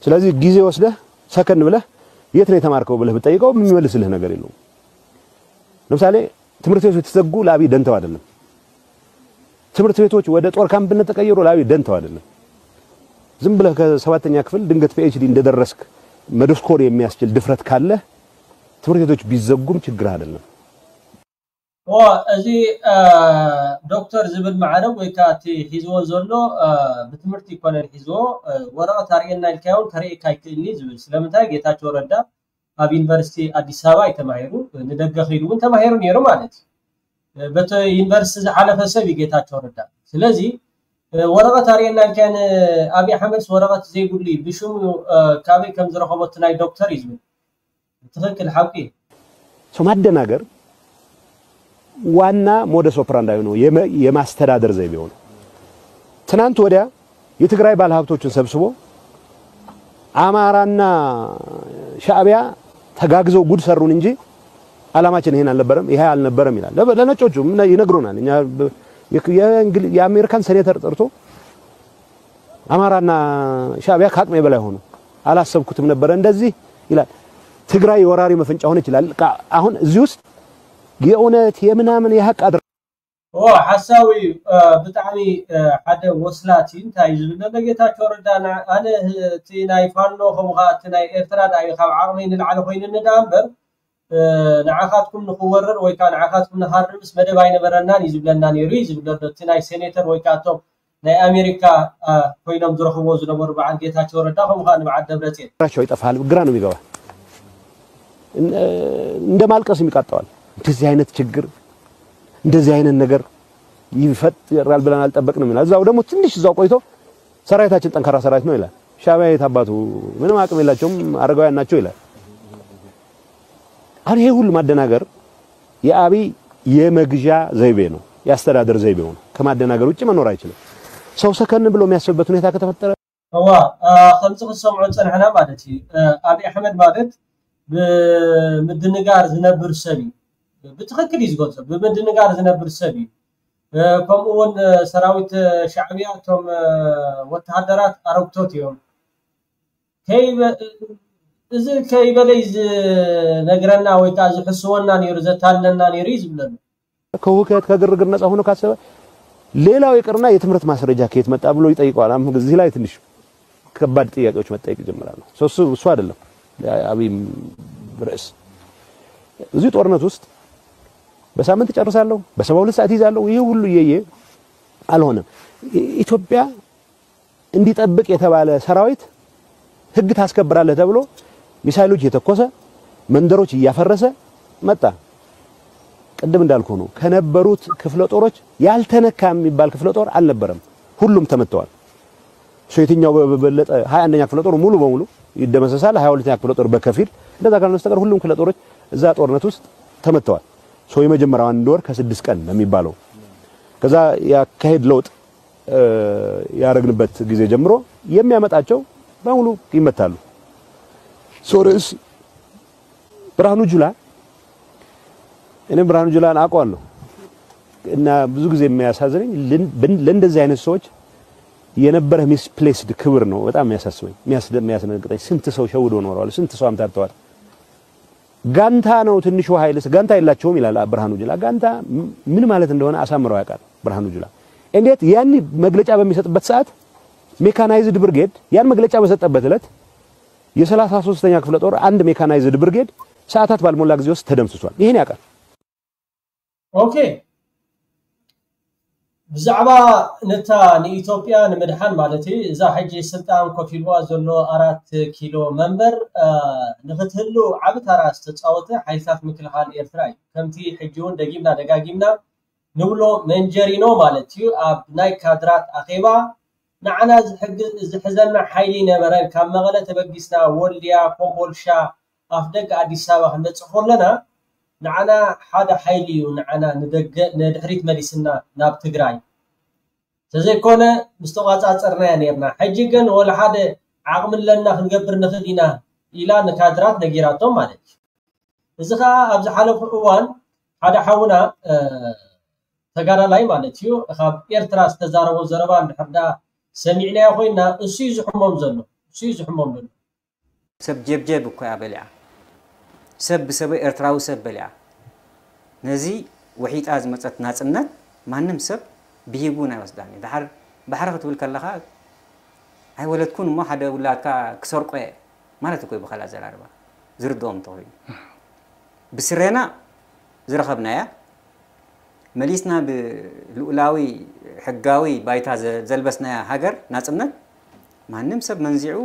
ስለዚህ ጊዜ ወስደህ ሰከን ብለህ የት ነው የተማርከው ብለህ ብትጠይቀው የሚመልስልህ ነገር የለውም። ለምሳሌ ትምህርት ቤቶች የተዘጉ ለአብይ ደንተው አይደለም። ትምህርት ቤቶች ወደ ጦር ካምፕነት ተቀየሩ ለአብይ ደንተው አይደለም። ዝም ብለህ ከሰባተኛ ክፍል ድንገት ፒኤችዲ እንደደረስክ መደስኮር የሚያስችል ድፍረት ካለህ ትምህርት ቤቶች ቢዘጉም ችግር አይደለም። እዚ ዶክተር ዝብል ማዕረግ ወይ ከዓ እቲ ሒዝዎ ዘሎ ብትምህርቲ ይኮነን ሒዝዎ ወረቐት ኣርእየና ኢልካዮ እውን ከርእየካ ኣይክእልን እዩ ዝብል። ስለምንታይ ጌታቸው ረዳ ኣብ ዩኒቨርሲቲ ኣዲስ ኣበባ እዩ ተማሂሩ፣ ንደገ ከይዱ እውን ተማሂሩ ነይሩ ማለት እዩ። በቲ ዩኒቨርሲቲ ዝሓለፈ ሰብ እዩ ጌታቸው ረዳ። ስለዚ ወረቐት ኣርእየና ኢልካዮ ንኣብይ ኣሕመድስ ወረቐት ዘይብሉ እዩ፣ ብሽሙ ካበይ ከም ዝረኸቦ እቲ ናይ ዶክተር እዩ ዝብል። ትኽክል ሓቂ እዩ። ሰው ማደናገር ዋና ሞደስ ኦፕራንዳይ ነው፣ የማስተዳደር ዘይቤው ነው። ትናንት ወዲያ የትግራይ ባለሀብቶችን ሰብስቦ አማራና ሻዕቢያ ተጋግዘው ጉድ ሰሩን እንጂ አላማችን ይሄን አልነበረም፣ ይሄ አልነበረም ይላል። ለነጮቹ ይነግሩናል። እኛ የአሜሪካን ሴኔተር ጠርቶ አማራና ሻዕቢያ ከአቅሜ በላይ ሆኑ፣ አላሰብኩትም ነበረ እንደዚህ ይላል። ትግራይ የወራሪ መፈንጫ ሆነች ይላል። አሁን እዚህ ውስጥ የእውነት የምናምን የሀቅ አድረ ኦ ሓሳዊ እዩ። ብጣዕሚ ሓደ ወስላት እዩ። እንታይ እዩ ዝብል ዘሎ ጌታቸው ረዳ? ኣነ እቲ ናይ ፋኖ ከምኡ ከዓ እቲ ናይ ኤርትራ ደኣ እዩ ካብ ዓቕመይ ንላዕሊ ኮይኑኒ ደኣ እምበር ንዓኻትኩም ንክወርር ወይ ከዓ ንዓኻትኩም ንሃርምስ መደብ ኣይነበረናን እዩ ዝብለና ነይሩ እዩ ዝብል ዘሎ እቲ ናይ ሴኔተር ወይ ከዓ እቶም ናይ ኣሜሪካ ኮይኖም ዝረኽብዎ ዝነበሩ በዓል ጌታቸው ረዳ ከምኡ ከዓ ንበዓል ደብረፅዮን። ራቸው ይጠፋል፣ ግራ ነው የሚገባ። እንደ ማልቀስ የሚቃጠዋል። እንደዚህ አይነት ችግር እንደዚህ አይነት ነገር ይፈጠራል ብለን አልጠበቅንም ይላል። እዛው ደግሞ ትንሽ እዛው ቆይቶ ሰራዊታችን ጠንካራ ሰራዊት ነው ይላል። ሻዕቢያ የት አባቱ ምንም አቅም የላቸውም አረጋውያን ናቸው ይላል። አሁን ይሄ ሁሉ ማደናገር የአብይ የመግዣ ዘይቤ ነው፣ የአስተዳደር ዘይቤው ነው። ከማደናገር ውጭ መኖር አይችልም። ሰው ሰከን ብሎ የሚያስብበት ሁኔታ ከተፈጠረ እዋ ከምዚ ክትሰምዖ ዝፀናሕና ማለት እዩ። ኣብይ ኣሕመድ ማለት ብምድንጋር ዝነብር ሰብ እዩ። ብትኽክል እዩ ዝገልፆ። ብምድንጋር ዝነብር ሰብ እዩ። ከምኡ እውን ሰራዊት ሻዕቢያ እቶም ወተሃደራት ኣረግቶት እዮም። እዚ ከይበለይ ዝነግረና ወይ ከዓ ዝሕስወና ነይሩ ዘታልለና ነይሩ እዩ ዝብለና። ከሁከት ከግርግር ነፃ ሆኖ ካሰበ ሌላው ይቅርና የትምህርት ማስረጃ ከየት መጣ ብሎ ይጠይቀዋል። አሁን እዚህ ላይ ትንሽ ከባድ ጥያቄዎች መጠየቅ ይጀምራሉ። እሱ እሱ አይደለም የአብይ ርዕስ። እዚህ ጦርነት ውስጥ በሳምንት ጨርሳለሁ፣ በሰባ ሁለት ሰዓት ይዛለሁ፣ ይሄ ሁሉ እየየ አልሆነም። ኢትዮጵያ እንዲጠብቅ የተባለ ሰራዊት ህግ ታስከብራለህ ተብሎ ሚሳይሎች እየተኮሰ መንደሮች እያፈረሰ መጣ። ቅድም እንዳልኩ ነው። ከነበሩት ክፍለ ጦሮች ያልተነካ የሚባል ክፍለ ጦር አልነበረም። ሁሉም ተመተዋል። ሶ የትኛው በበለጠ ሀያ አንደኛ ክፍለ ጦር ሙሉ በሙሉ ይደመሰሳል። ሀያ ሁለተኛ ክፍለ ጦር በከፊል፣ እንደዛ ካልሆነ በስተቀር ሁሉም ክፍለ ጦሮች እዛ ጦርነት ውስጥ ተመተዋል። ሶ የመጀመሪያው አንድ ወር ከስድስት ቀን ነው የሚባለው። ከዛ ያካሄድ ለውጥ ያደረግንበት ጊዜ ጀምሮ የሚያመጣቸው በሙሉ ይመታሉ። ሶ ርዕስ ብርሃኑ ጁላ፣ እኔም ብርሃኑ ጁላን አውቀዋለሁ እና ብዙ ጊዜ የሚያሳዝነኝ ለእንደዚህ አይነት ሰዎች የነበረ ሚስፕሌስድ ክብር ነው በጣም የሚያሳስበኝ፣ የሚያስደንግጠኝ። ስንት ሰው ሸውዶ ኖረዋል፣ ስንት ሰው አምታተዋል። ጋንታ ነው ትንሹ ኃይል፣ ጋንታ የላቸውም ይላል ብርሃኑ ጁላ። ጋንታ ምን ማለት እንደሆነ አሳምረው ያውቃል ብርሃኑ ጁላ። እንዴት ያን መግለጫ በሚሰጥበት ሰዓት ሜካናይዝድ ብርጌድ ያን መግለጫ በሰጠበት ዕለት የሰላሳ ሶስተኛ ክፍለ ጦር አንድ ሜካናይዝድ ብርጌድ ሰዓታት ባልሞላ ጊዜ ውስጥ ተደምስሷል። ይሄን ያውቃል። ኦኬ፣ ብዛዕባ ነታ ንኢትዮጵያ ንምድሓን ማለት እዩ፣ እዛ ሕጂ ስልጣን ኮፍ ኢልዋ ዘሎ ኣራት ኪሎ መንበር ንክትህሉ ዓቢ ታራ ዝተፃወተ ሓይልታት ምክልኻል ኤርትራ እዩ። ከምቲ ሕጂ እውን ደጊምና ደጋጊምና ንብሎ መንጀሪኖ ማለት እዩ። ኣብ ናይ ካድራት ኣኼባ ንዓና ዝሕዘና ሓይሊ ነበረን። ካብ መቐለ ተበጊስና ወልድያ፣ ኮምቦልሻ፣ ኣፍ ደገ ኣዲስ ኣበባ ክንበፅእ ከለና ንዓና ሓደ ሓይሊ እዩ ንዓና ንደገ ንድሕሪት መሊስና ናብ ትግራይ። ተዘይኮነ ምስ ተቋፃፀርናያ ነርና። ሕጂ ግን ወላ ሓደ ዓቕሚ ኣለና ክንገብር ንኽእል ኢና ኢላ ንካድራት ነጊራቶም ማለት እዩ። እዚ ከዓ ኣብ ዝሓለፉ እዋን ሓደ ሓውና ተጋዳላይ ማለት እዩ ካብ ኤርትራ ዝተዛረቦ ዘረባ እንድሕር ዳ ሰሚዕናዮ ኮይና እሱ እዩ ዝሕሞም ዘሎ እሱ እዩ ዝሕሞም ዘሎ። ሰብ ጀብጀብ እኮ እያ በሊዓ። ሰብ ብሰብ ኤርትራዊ ሰብ በሊዓ። ነዚ ወሒጣ ዝመፀት ናፅነት ማንም ሰብ ብሂጉ ናይ ወስዳን እዩ። ድሓር ባሕሪ ክትብል ከለኻ ኣይወለድኩን እሞ ሓደ ውላድካ ክሰርቆ እየ ማለት እኮ እዩ ብኻልእ ኣዘራርባ ዝርድኦም እንተኾይኑ። ብስሬና ዝረኸብናያ መሊስና ብልኡላዊ ሕጋዊ ባይታ ዘልበስናያ ሃገር ናፅነት ማንም ሰብ መንዚዑ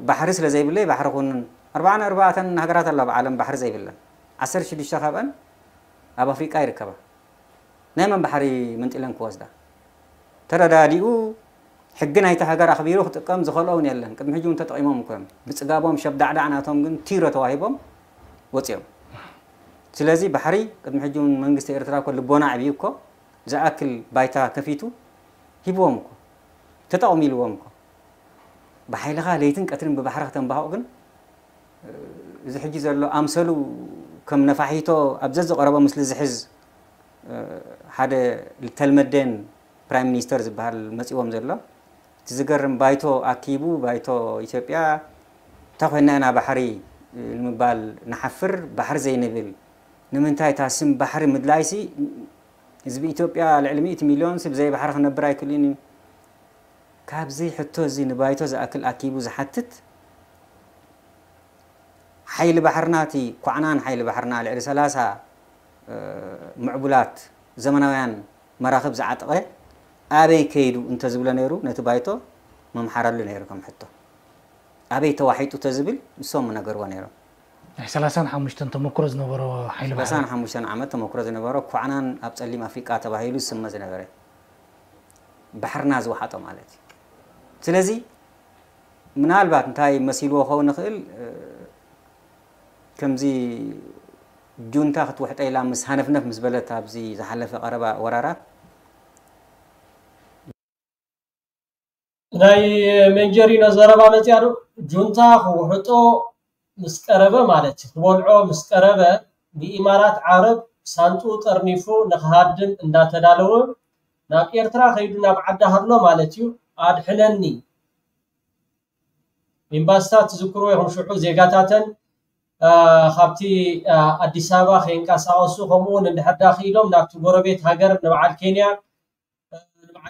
ባሕሪ ስለ ዘይብለይ ባሕሪ ኩንን ኣርባዓን ኣርባዕተን ሃገራት ኣለዋ ብዓለም ባሕሪ ዘይብለን ዓሰርተ ሽዱሽተ ካብአን ኣብ ኣፍሪቃ ይርከባ ናይ መን ባሕሪ መንጢለን ክወስዳ ተረዳዲኡ ሕጊ ናይቲ ሃገር ኣኽቢሩ ክጥቀም ዝኸልኦ እውን የለን ቅድሚ ሕጂ እውን ተጠቂሞም እኮ እዮም ብፅጋቦም ሸብዳዕዳዕ ናቶም ግን ቲሮ ተዋሂቦም ወፂኦም ስለዚ ባሕሪ ቅድሚ ሕጂ እውን መንግስቲ ኤርትራ እኮ ልቦና ዕብዩ እኮ ዝኣክል ባይታ ከፊቱ ሂብዎም እኮ ተጠቕሚልዎም እኮ ብሓይልኻ ለይትን ቀትርን ብባሕሪ ከተንባህቕ ግን እዚ ሕጂ ዘሎ ኣምሰሉ ከም ነፋሒቶ ኣብ ዘዝቐረቦ ምስሊ ዝሕዝ ሓደ ተልመዴን ፕራይም ሚኒስተር ዝበሃል መፂዎም ዘሎ እቲ ዝገርም ባይቶ ኣኪቡ ባይቶ ኢትዮጵያ እንታይ ኮይና ኢና ባሕሪ ንምባል ንሓፍር ባሕሪ ዘይንብል ንምንታይ እታ ስም ባሕሪ ምድላይሲ ህዝቢ ኢትዮጵያ ልዕሊ ሚእቲ ሚልዮን ሲ ብዘይ ባሕሪ ክነብር ኣይክእልን እዩ ካብዚ ሕቶ እዚ ንባይቶ ዝኣክል ኣኪቡ ዝሓትት ሓይሊ ባሕርና እቲ ኳዕናን ሓይሊ ባሕርና ልዕሊ ሰላሳ ምዕቡላት ዘመናውያን መራኽብ ዝዓጠቐ ኣበይ ከይዱ እንተዝብሎ ነይሩ ነቲ ባይቶ መምሓረሉ ነይሩ ከም ሕቶ ኣበይ ተዋሒጡ ተዝብል ንሶም ምነገርዎ ነይሮም ናይ ሰላሳን ሓሙሽተን ተመክሮ ዝነበሮ ሓይሊ ባሕሪ ሰላሳን ሓሙሽተን ዓመት ተመክሮ ዝነበሮ ኳዕናን ኣብ ፀሊም ኣፍሪቃ ተባሂሉ ዝስመ ዝነበረ ባሕርና ዝወሓጦ ማለት እዩ ስለዚ ምናልባት እንታይ መሲልዎ ክኸውን ይኽእል ከምዚ ጁንታ ክትውሕጠ ኢላ ምስ ሃነፍነፍ ምስ በለት ኣብዚ ዝሓለፈ ቀረባ ወራራት ናይ መንጀሪኖ ዘረባ መፅያ ዶ ጁንታ ክውሕጦ ምስ ቀረበ ማለት እዩ ክበልዖ ምስ ቀረበ ንኢማራት ዓረብ ሳንጡ ጠርኒፉ ንክሃድም እንዳተዳለወ ናብ ኤርትራ ከይዱ ናብ ዓዲ ሃሎ ማለት እዩ ኣድሕነኒ ኤምባስታት ትዝክርዎ ኢኹም ሽዑ ዜጋታተን ካብቲ ኣዲስ ኣበባ ከይንቀሳቐሱ ከምኡውን እንድሕር ዳ ክኢሎም ናብቲ ጎረቤት ሃገር ንበዓል ኬንያ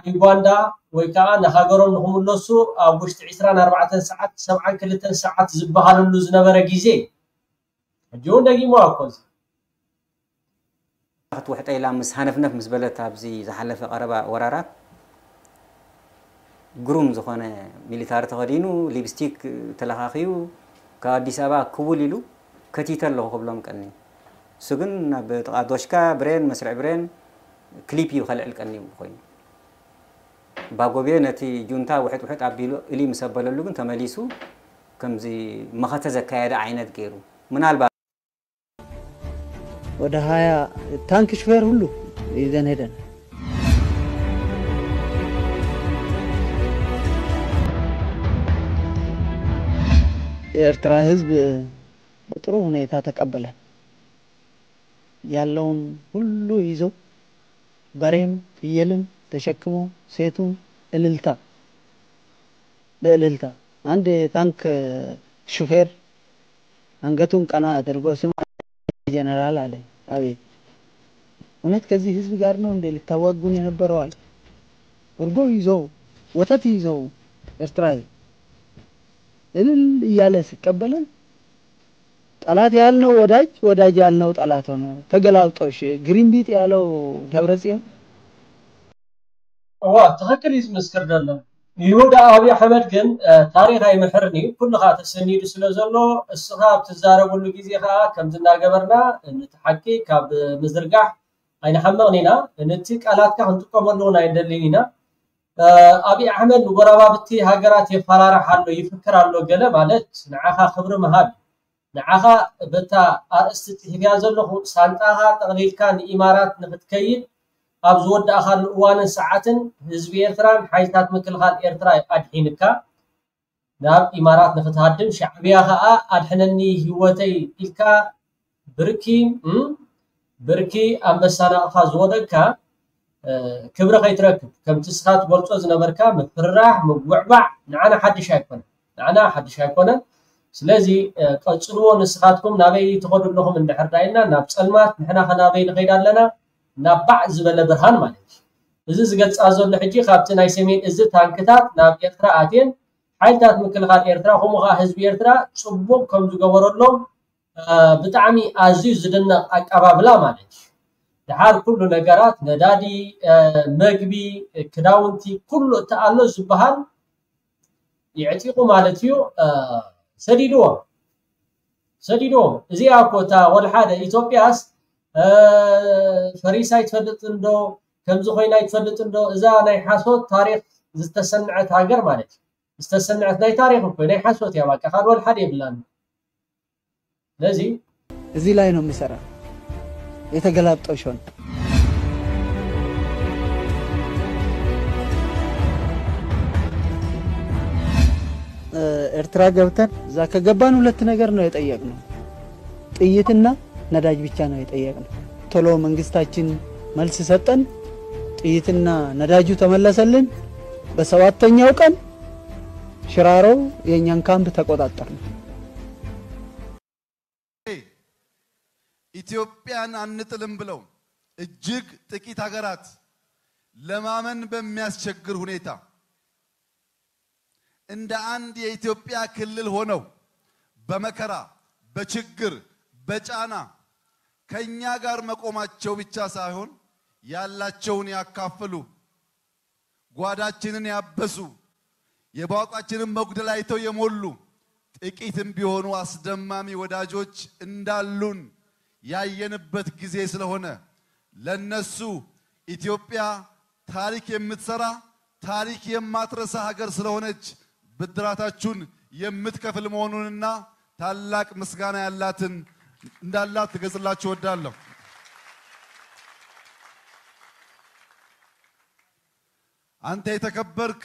ዩጋንዳ ወይ ከዓ ንሃገሮም ንክምለሱ ኣብ ውሽጢ ዕስራን ኣርባዕተን ሰዓት፣ ሰብዓን ክልተን ሰዓት ዝበሃለሉ ዝነበረ ግዜ፣ ሕጂ እውን ደጊሞ ኣኮ እዚ ክትውሕጠ ኢላ ምስ ሃነፍነፍ ምስ በለት ኣብዚ ዝሓለፈ ቀረባ ወራራት ግሩም ዝኾነ ሚሊታሪ ተኸዲኑ፣ ሊፕስቲክ ተለኻኺዩ፣ ካብ ኣዲስ ኣበባ ክውል ኢሉ ከቲተ ኣለኹ ክብሎም ቀኒ። እሱ ግን ናብ ጥቓ ዶሽካ ብሬን፣ መስርዕ ብሬን፣ ክሊፕ እዩ ከልዕል ቀኒ ኮይኑ። ባጎቤ ነቲ ጁንታ ውሕጥ ውሕጥ ኣቢሉ እሊ ምስ ኣበለሉ ግን ተመሊሱ ከምዚ መኸተ ዘካየደ ዓይነት ገይሩ። ምናልባት ወደ ሃያ ታንክ ሹፌር ሁሉ ይዘን ሄደን። የኤርትራ ህዝብ በጥሩ ሁኔታ ተቀበለን። ያለውን ሁሉ ይዘው በሬም ፍየልም ተሸክሞ ሴቱን እልልታ በእልልታ። አንድ ታንክ ሹፌር አንገቱን ቀና አድርጎ «ስማ ጀነራል» አለ። «አቤት። እውነት ከዚህ ህዝብ ጋር ነው እንዴ ልታዋጉን የነበረው?» አለ። እርጎ ይዘው ወተት ይዘው ኤርትራዊ እልል እያለ ሲቀበለን፣ ጠላት ያልነው ወዳጅ፣ ወዳጅ ያልነው ጠላት ሆነ። ተገላብጦሽ፣ ግሪንቢጥ ያለው ደብረጽዮን። እዋ ትኽክል እዩ ዝምስክር ዘሎ። ይሁዳ ኣብይ ኣሕመድ ግን ታሪኽ ኣይምሕርን እዩ። ኩሉ ከዓ ተሰኒዱ ስለ ዘሎ፣ እስኻ ኣብ ትዛረብሉ ግዜ ከዓ ከምዚ እናገበርና ነቲ ሓቂ ካብ ምዝርጋሕ ኣይንሓምቕን ኢና። ነቲ ቃላትካ ክንጥቀመሉ እውን ኣይንደልን ኢና። ኣብይ ኣሕመድ ንጎረባብቲ ሃገራት የፈራርሕ ኣሎ፣ ይፍክር ኣሎ ገለ ማለት ንዓኻ ክብሪ ምሃብ እዩ። ንዓኻ በታ ኣርእስቲ ጽሒፍያ ዘለኹ ሳንጣኻ ጠቕሊልካ ንኢማራት ንኽትከይድ ኣብ ዝወዳእኻሉ እዋንን ሰዓትን ህዝቢ ኤርትራን ሓይልታት ምክልኻል ኤርትራ ኣድሒንካ ናብ ኢማራት ንኽትሃድም፣ ሻዕብያ ኸኣ ኣድሕነኒ ህይወተይ ኢልካ ብርኪ ብርኪ ኣንበሳ ናቕፋ ዝወደቅካ ክብሪ ከይትረክብ፣ ከምቲ እስኻ ትገልጾ ዝነበርካ ምፍርራሕ ምጉዕባዕ ንዓና ሓድሽ ኣይኮነን። ንዓና ሓድሽ ኣይኮነን። ስለዚ ቀጽልዎ። ንስኻትኩም ናበይ ትኸዱ ኣለኹም እንድሕር ዳይና ናብ ጸልማት፣ ንሕና ኸ ናበይ ንኸይድ ኣለና? ናብ ባዕ ዝበለ ብርሃን ማለት እዩ። እዚ ዝገልጻ ዘሎ ሕጂ ካብቲ ናይ ሰሜን እዚ ታንክታት ናብ ኤርትራ ኣትየን ሓይልታት ምክልኻል ኤርትራ ከምኡ ኸዓ ህዝቢ ኤርትራ ጽቡቕ ከም ዝገበረሎም ብጣዕሚ ኣዝዩ ዝድነቕ ኣቀባብላ ማለት እዩ። ድሓር ኩሉ ነገራት ነዳዲ፣ መግቢ፣ ክዳውንቲ ኩሉ እቲ ኣሎ ዝበሃል የዕጢቑ ማለት እዩ። ሰዲድዎም ሰዲድዎም። እዚኣ እኮ እታ ወልሓደ ኢትዮጵያስ ፈሪሳ ይትፈልጥ እንዶ ከምዚ ኮይና ይትፈልጥ እንዶ እዛ ናይ ሓሶት ታሪክ ዝተሰንዐት ሃገር ማለት እዩ። ዝተሰንዐት ናይ ታሪክ እኮ ናይ ሓሶት እያ። በቃ ካልእ ወልሓደ የብላን። ስለዚ እዚህ ላይ ነው የሚሰራ የተገላብጦሽ ሆነ። ኤርትራ ገብተን እዛ ከገባን ሁለት ነገር ነው የጠየቅነው። ጥይትና ነዳጅ ብቻ ነው የጠየቅነው። ቶሎ መንግስታችን መልስ ሰጠን። ጥይትና ነዳጁ ተመለሰልን። በሰባተኛው ቀን ሽራሮ የእኛን ካምፕ ተቆጣጠርን። ኢትዮጵያን አንጥልም ብለው እጅግ ጥቂት ሀገራት ለማመን በሚያስቸግር ሁኔታ እንደ አንድ የኢትዮጵያ ክልል ሆነው በመከራ፣ በችግር፣ በጫና ከኛ ጋር መቆማቸው ብቻ ሳይሆን ያላቸውን ያካፈሉ፣ ጓዳችንን ያበሱ፣ የቧንቧችንን መጉደል አይተው የሞሉ ጥቂትም ቢሆኑ አስደማሚ ወዳጆች እንዳሉን ያየንበት ጊዜ ስለሆነ ለነሱ ኢትዮጵያ ታሪክ የምትሰራ፣ ታሪክ የማትረሳ ሀገር ስለሆነች ብድራታችሁን የምትከፍል መሆኑንና ታላቅ ምስጋና ያላትን እንዳላት ልገልጽላችሁ እወዳለሁ። አንተ የተከበርክ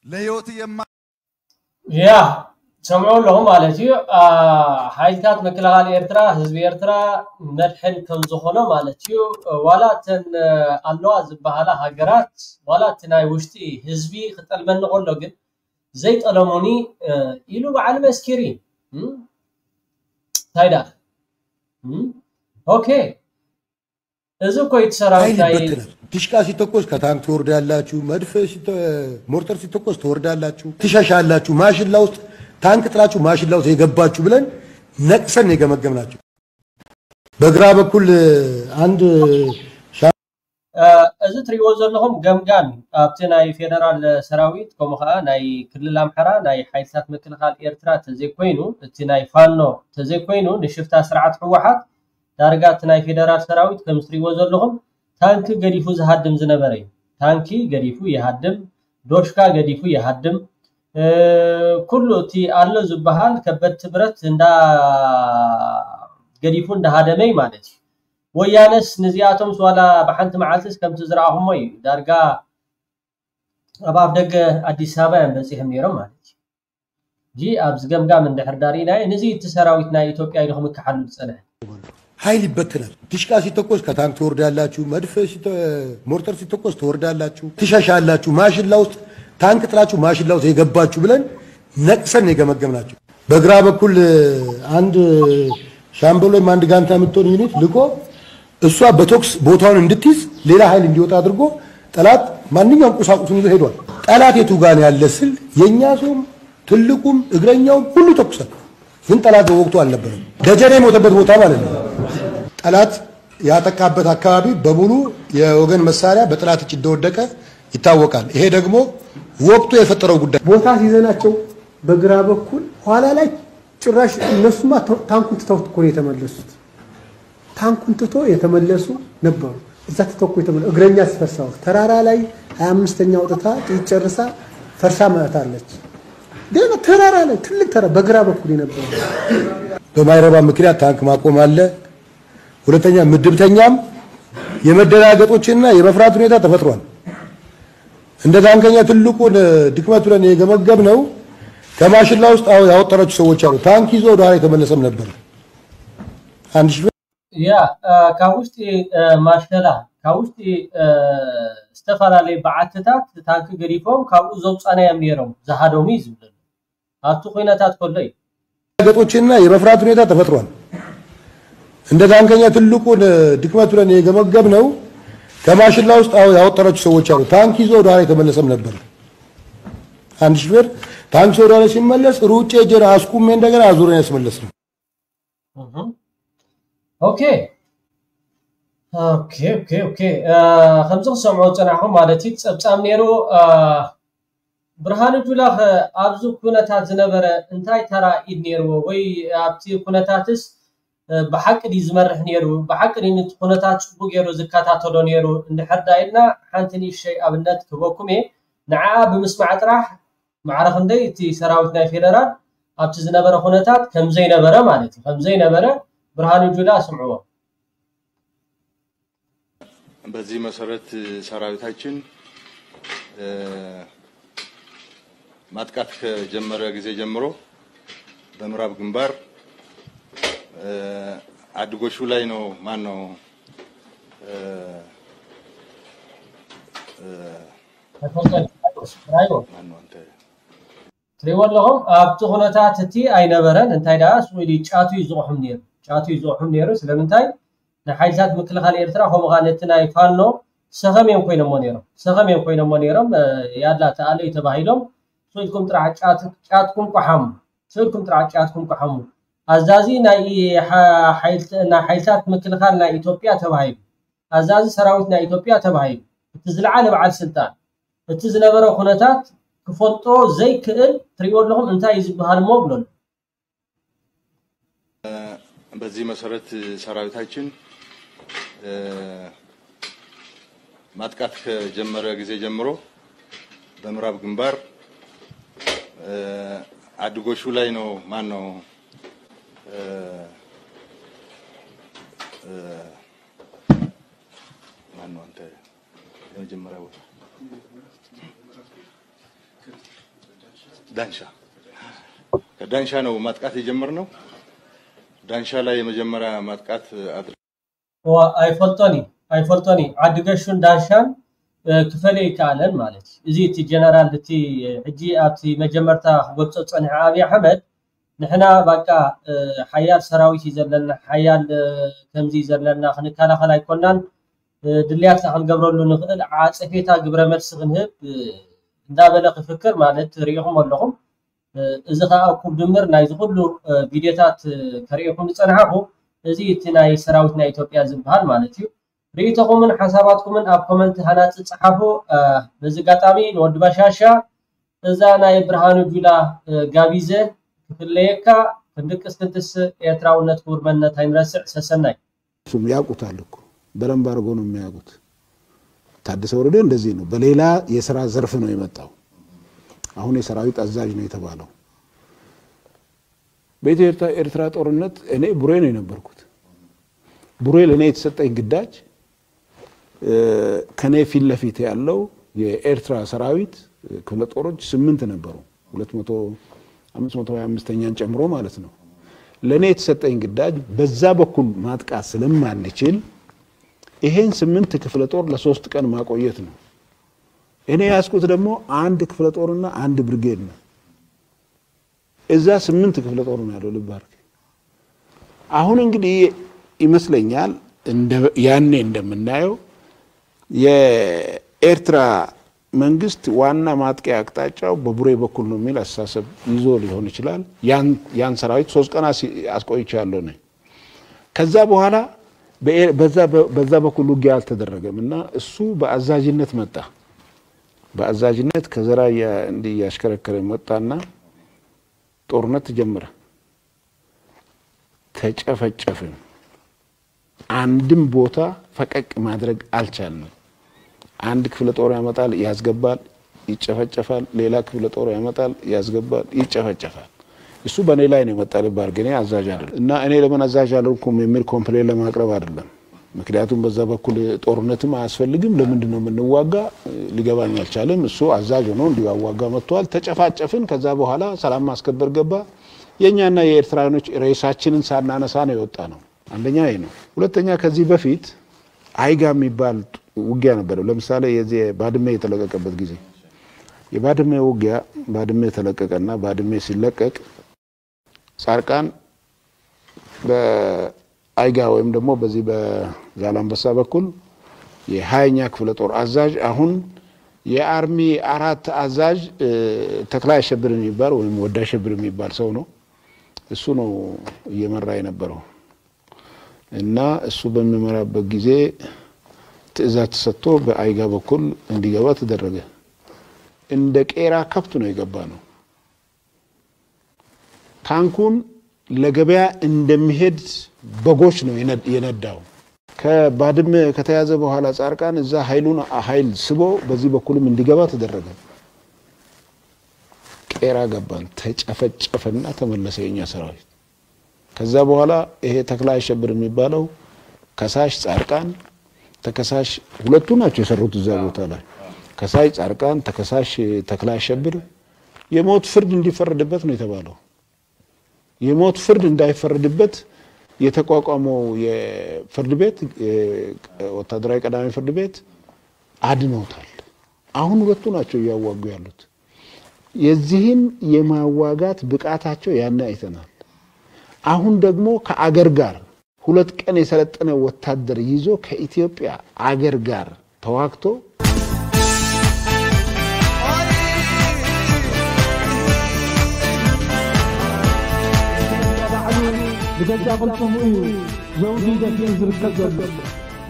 ለህይወት የማ ያ ትሰምዑ ኣለኹም ማለት እዩ። ሓይልታት ምክልኻል ኤርትራ፣ ህዝቢ ኤርትራ መድሕን ከም ዝኾኖ ማለት እዩ። ዋላ እተን ኣለዋ ዝበሃላ ሃገራት፣ ዋላ እቲ ናይ ውሽጢ ህዝቢ ክጠልመኒ ከሎ ግን ዘይጠለሙኒ ኢሉ በዓል መስኪሪ እንታይ ደኣ ኦኬ እዚ እኮ እዩ እቲ ሰራዊት ኃይል ናይ ይበትናል። ዲሽቃ ሲተኮስ ከታንክ ትወርዳላችሁ፣ መድፍ ሲተ- ሞርተር ሲተኮስ ትወርዳላችሁ፣ ትሸሻላችሁ። ማሽላ ውስጥ ታንክ ጥላችሁ ማሽላ ውስጥ የገባችሁ ብለን ነቅሰን የገመገምናቸው። በግራ በኩል አንድ ሻ- እ፣ እዚ ትሪእዎ ዘለኹም ገምጋም እዩ። ኣብቲ ናይ ፌደራል ሰራዊት ከምኡ ከዓ ናይ ክልል ኣምሓራ ናይ ሓይልታት ምክልኻል ኤርትራ ተዘይኮይኑ፣ እቲ ናይ ፋኖ ተዘይኮይኑ፣ ንሽፍታ ስርዓት ህወሓት ዳርጋ እቲ ናይ ፌደራል ሰራዊት ከም ትሪእዎ ዘለኹም ታንኪ ገዲፉ ዝሃድም ዝነበረ እዩ። ታንኪ ገዲፉ ይሃድም፣ ዶሽካ ገዲፉ ይሃድም። እ፣ ኩሉ እቲ ኣሎ ዝበሃል ከበድቲ ብረት እንዳ ገዲፉ እንዳሃደመ እዩ ማለት እዩ። ወያነስ ንዚኣቶምስ ዋላ ብሓንቲ መዓልትስ ከምቲ ዝረኣኹሞ እዩ። ዳርጋ ኣብ ኣፍ ደገ ኣዲስ ኣበባ እዮም በፂሖም ነይሮም ማለት እዩ። እዚ ኣብዚ ገምጋም እንድሕር ዳርኢናዮ፣ ንዚ እቲ ሰራዊት ናይ ኢትዮጵያ ኢሉ ክምክሓሉ ዝፀንሐ። ኃይል ይበትናል። ዲሽቃ ሲተኮስ ከታንክ ትወርዳላችሁ፣ መድፍ ሲተ- ሞርተር ሲተኮስ ትወርዳላችሁ፣ ትሸሻላችሁ። ማሽላ ውስጥ ታንክ ጥላችሁ ማሽላ ውስጥ የገባችሁ ብለን ነቅሰን የገመገምናቸው። በግራ በኩል አንድ ሻምበል ወይም አንድ ጋንታ የምትሆን ዩኒት ልኮ እሷ በቶክስ ቦታውን እንድትይዝ ሌላ ኃይል እንዲወጣ አድርጎ ጠላት ማንኛውም ቁሳቁሱን ይዞ ሄዷል። ጠላት የቱ ጋር ያለ ስል የእኛ ሰውም ትልቁም እግረኛውም ሁሉ ተኩሰን፣ ግን ጠላት በወቅቱ አልነበረም። ደጀኔ የሞተበት ቦታ ማለት ነው። ጠላት ያጠቃበት አካባቢ በሙሉ የወገን መሳሪያ በጠላት እጅ እንደወደቀ ይታወቃል። ይሄ ደግሞ ወቅቱ የፈጠረው ጉዳይ። ቦታ ሲይዘናቸው በግራ በኩል ኋላ ላይ ጭራሽ እነሱማ ተ- ታንኩን ትተው እኮ ነው የተመለሱት። ታንኩን ትቶ የተመለሱ ነበሩ። እዛ ትተው እኮ የተመለሱ እግረኛ ሲፈርሳው ተራራ ላይ ሀያ አምስተኛ አውጥታ ጥይት ጨርሳ ፈርሳ መታለች። ሌላ ተራራ ላይ ትልቅ ተራ በግራ በኩል የነበሩ በማይረባ ምክንያት ታንክ ማቆም አለ። ሁለተኛ ምድብተኛም የመደናገጦችና የመፍራት ሁኔታ ተፈጥሯል። እንደ ታንከኛ ትልቁን ድክመት ብለን የገመገምነው ከማሽላ ውስጥ አዎ ያወጣናቸው ሰዎች አሉ። ታንክ ይዞ ወደ ኋላ የተመለሰም ነበር። አንድ ሺህ ያ እ፣ ካብ ውሽጢ እ፣ ማሸላ ካብ ውሽጢ እ፣ ዝተፈላለዩ በዓትታት ታንኪ ገዲፎም ካብኡ ዘውፃናዮም ነይሮም ዝሃደሙ እዩ ዝብለሉ ኣብቲ ኩነታት ከሎ እዩ። ገጦችና የመፍራት ሁኔታ ተፈጥሯል። እንደ ታንከኛ ትልቁን ድክመት ብለን የገመገምነው ከማሽላ ውስጥ አዎ ያወጣናቸው ሰዎች አሉ። ታንክ ይዞ ወደ ኋላ የተመለሰም ነበር። አንድ ሹፌር ታንክ ይዞ ወደ ኋላ ሲመለስ ሩጬ ሄጄ አስቁሜ እንደገና አዙረን ያስመለስነው። እህ። ኦኬ ኦኬ ኦኬ ኦኬ እ፣ ከምዚ ክሰምዖ ዝፀናሕኹም ማለት እዩ ጸብጻብ ነይሩ እ፣ ብርሃኑ ጁላ ኸ ኣብዚ ኩነታት ዝነበረ እንታይ ተራ ኢድ ነይርዎ ወይ ኣብቲ ኩነታትስ እ፣ ብሓቂ ድዩ ዝመርሕ ነይሩ ብሓቂ ድዩ ነቲ ኩነታት ፅቡቅ ገይሩ ዝከታተሎ ነይሩ እንድሕር ዳ ኢልና ሓንቲ ንእሽተይ ኣብነት ክህበኩም እየ ንዓኣ ብምስማዕ ጥራሕ ማዕረ ክንደይ እቲ ሰራዊት ናይ ፌደራል ኣብቲ ዝነበረ ኩነታት ከምዘይነበረ ማለት እዩ ከምዘይነበረ ብርሃኑ ጁላ ስምዕዎ በዚህ መሰረት ሰራዊታችን እ፣ ማጥቃት ከጀመረ ጊዜ ጀምሮ በምዕራብ ግንባር እ፣ አድጎሹ ላይ ነው ማን ነው እ፣ እ፣ ተፈጸመ ራይቦ ማን ነው አንተ ትሪእዎ ኣለኹም ኣብቲ ኩነታት እቲ ኣይነበረን እንታይ ደኣ ስዊዲ ጫቱ እዩ ዝቕሑም ነይሩ ጫቱ እዩ ዝቕሑም ነይሩ ስለምንታይ ንሓይልታት ምክልኻል ኤርትራ ከምኡ ከዓ ነቲ ናይ ፋኖ ሰኸም እዮም ኮይኖሞ ነይሮም ሰኸም እዮም ኮይኖሞ ነይሮም እ፣ ያላ ተኣለዩ ተባሂሎም ስኢድኩም ጥራሕ ጫት- ጫትኩም ቆሓሙ ስኢድኩም ጥራሕ ጫትኩም ቆሓሙ ኣዛዚ ናይ ሓ- ሓይልት- ናይ ሓይልታት ምክልኻል ናይ ኢትዮጵያ ተባሂሉ ኣዛዚ ሰራዊት ናይ ኢትዮጵያ ተባሂሉ እቲ ዝለዓለ በዓል ስልጣን እቲ ዝነበረ ኩነታት ክፈልጦ ዘይክእል ትሪእዎ ኣለኹም እንታይ እዩ ዝበሃል እሞ ብለሉ በዚህ መሰረት ሰራዊታችን እ፣ ማጥቃት ከጀመረ ጊዜ ጀምሮ በምዕራብ ግንባር እ፣ አድጎሹ ላይ ነው ማን ነው እ፣ እ፣ ማን ነው አንተ የመጀመሪያ ቦታ ዳንሻ ከዳንሻ ነው ማጥቃት የጀመርነው። ዳንሻ ላይ የመጀመሪያ ማጥቃት አድርገን እዋ ኣይፈልጦን እዩ ኣይፈልጦን እዩ ዓዲ ገሹን ዳንሻን እ፣ ክፈልዮ ይከኣለን ማለት እዩ እዚ እቲ ጀነራል እቲ ሕጂ ኣብቲ መጀመርታ ክገልፆ ፀኒሐ ኣብይ ኣሕመድ ንሕና ባቃ እ፣ ሓያል ሰራዊት እዩ ዘለና ሓያል እ፣ ከምዚ እዩ ዘለና ክንከላኸል ኣይኮናን ድልያትና ክንገብረሉ ንኽእል ዓጸፌታ ግብረ መልሲ ክንህብ እንዳበለ ክፍክር ማለት ርኢኹም ኣለኹም። እዚ ከዓ እኩብ ድምር ናይዚ ኩሉ ቪድዮታት ከርእየኩም ዝፀናሕኹ እዚ እቲ ናይ ሰራዊት ናይ ኢትዮጵያ ዝበሃል ማለት እዩ። ርእይቶኹምን ሓሳባትኩምን ኣብ ኮመንት ሃናፂ ፀሓፉ። በዚ ኣጋጣሚ ንወዲ ባሻሻ እዛ ናይ ብርሃኑ ጁላ ጋቢዘ ክፍለየካ ክንድቅስ ክንትስ ኤርትራውነት ክቡር መንነት ኣይንረስዕ። ሰሰናይ። እሱም ያውቁታል እኮ በደንብ አድርጎ ነው የሚያውቁት። ታደሰ ወረደ እንደዚህ ነው። በሌላ የስራ ዘርፍ ነው የመጣው። አሁን የሰራዊት አዛዥ ነው የተባለው። በኢትዮ ኤርትራ ጦርነት እኔ ቡሬ ነው የነበርኩት። ቡሬ ለእኔ የተሰጠኝ ግዳጅ ከኔ ፊት ለፊት ያለው የኤርትራ ሰራዊት ክፍለ ጦሮች ስምንት ነበሩ። ሁለት መቶ አምስት መቶ ሃያ አምስተኛን ጨምሮ ማለት ነው። ለእኔ የተሰጠኝ ግዳጅ በዛ በኩል ማጥቃት ስለማንችል ይሄን ስምንት ክፍለ ጦር ለሶስት ቀን ማቆየት ነው። እኔ ያስኩት ደግሞ አንድ ክፍለ ጦርና አንድ ብርጌድ ነው። እዛ ስምንት ክፍለ ጦር ነው ያለው። ልብ አድርግ። አሁን እንግዲህ ይመስለኛል ያኔ እንደምናየው የኤርትራ መንግስት ዋና ማጥቂያ አቅጣጫው በቡሬ በኩል ነው የሚል አስተሳሰብ ይዞ ሊሆን ይችላል። ያን ሰራዊት ሶስት ቀን አስቆይቻለሁ ነኝ። ከዛ በኋላ በዛ በኩል ውጊያ አልተደረገም እና እሱ በአዛዥነት መጣ። በአዛዥነት ከዘራ እንዲህ እያሽከረከረ መጣና ጦርነት ተጀመረ። ተጨፈጨፍን። አንድም ቦታ ፈቀቅ ማድረግ አልቻልንም። አንድ ክፍለ ጦር ያመጣል፣ ያስገባል፣ ይጨፈጨፋል። ሌላ ክፍለ ጦር ያመጣል፣ ያስገባል፣ ይጨፈጨፋል። እሱ በእኔ ላይ ነው የመጣ። ልብ አድርግ፣ እኔ አዛዥ አይደለም እና እኔ ለምን አዛዥ አልሆንኩም የሚል ኮምፕሌን ለማቅረብ አይደለም። ምክንያቱም በዛ በኩል ጦርነትም አያስፈልግም፣ ለምንድን ነው የምንዋጋ ሊገባኝ አልቻለም። እሱ አዛዥ ሆኖ እንዲያዋጋ መጥቷል። ተጨፋጨፍን። ከዛ በኋላ ሰላም ማስከበር ገባ። የእኛና የኤርትራኖች ሬሳችንን ሳናነሳ ነው የወጣ ነው። አንደኛ ይሄ ነው። ሁለተኛ ከዚህ በፊት አይጋ የሚባል ውጊያ ነበረ። ለምሳሌ የዚህ ባድመ የተለቀቀበት ጊዜ የባድመ ውጊያ ባድመ የተለቀቀና ባድመ ሲለቀቅ ጻርቃን በአይጋ ወይም ደግሞ በዚህ በዛላንበሳ በኩል የሃያኛ ክፍለ ጦር አዛዥ አሁን የአርሚ አራት አዛዥ ተክላይ አሸብር የሚባል ወይም ወዳ አሸብር የሚባል ሰው ነው። እሱ ነው እየመራ የነበረው እና እሱ በሚመራበት ጊዜ ትዕዛዝ ተሰጥቶ በአይጋ በኩል እንዲገባ ተደረገ። እንደ ቄራ ከብት ነው የገባ ነው። ታንኩን ለገበያ እንደሚሄድ በጎች ነው የነዳው። ከባድመ ከተያዘ በኋላ ጻርቃን እዛ ኃይሉን ኃይል ስቦ በዚህ በኩልም እንዲገባ ተደረገ። ቄራ ገባን፣ ተጨፈጨፈና ተመለሰ የኛ ሰራዊት። ከዛ በኋላ ይሄ ተክለ አሸብር የሚባለው ከሳሽ ጻርቃን ተከሳሽ ሁለቱ ናቸው የሰሩት እዛ ቦታ ላይ። ከሳሽ ጻርቃን፣ ተከሳሽ ተክለ አሸብር የሞት ፍርድ እንዲፈረድበት ነው የተባለው። የሞት ፍርድ እንዳይፈረድበት የተቋቋመው የፍርድ ቤት ወታደራዊ ቀዳሚ ፍርድ ቤት አድኖታል። አሁን ሁለቱ ናቸው እያዋጉ ያሉት። የዚህን የማዋጋት ብቃታቸው ያኔ አይተናል። አሁን ደግሞ ከአገር ጋር ሁለት ቀን የሰለጠነ ወታደር ይዞ ከኢትዮጵያ አገር ጋር ተዋግቶ ብገዛ ቅልጽሙ እዩ ዘውዲ ደፊኡ ዝርከብ ዘሎ።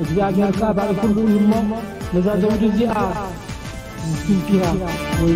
እግዚኣብሔር ከኣ ባዕሉ ኩሉ እዩ እሞ ነዛ ዘውዲ እዚኣ ኪንኪያ ወይ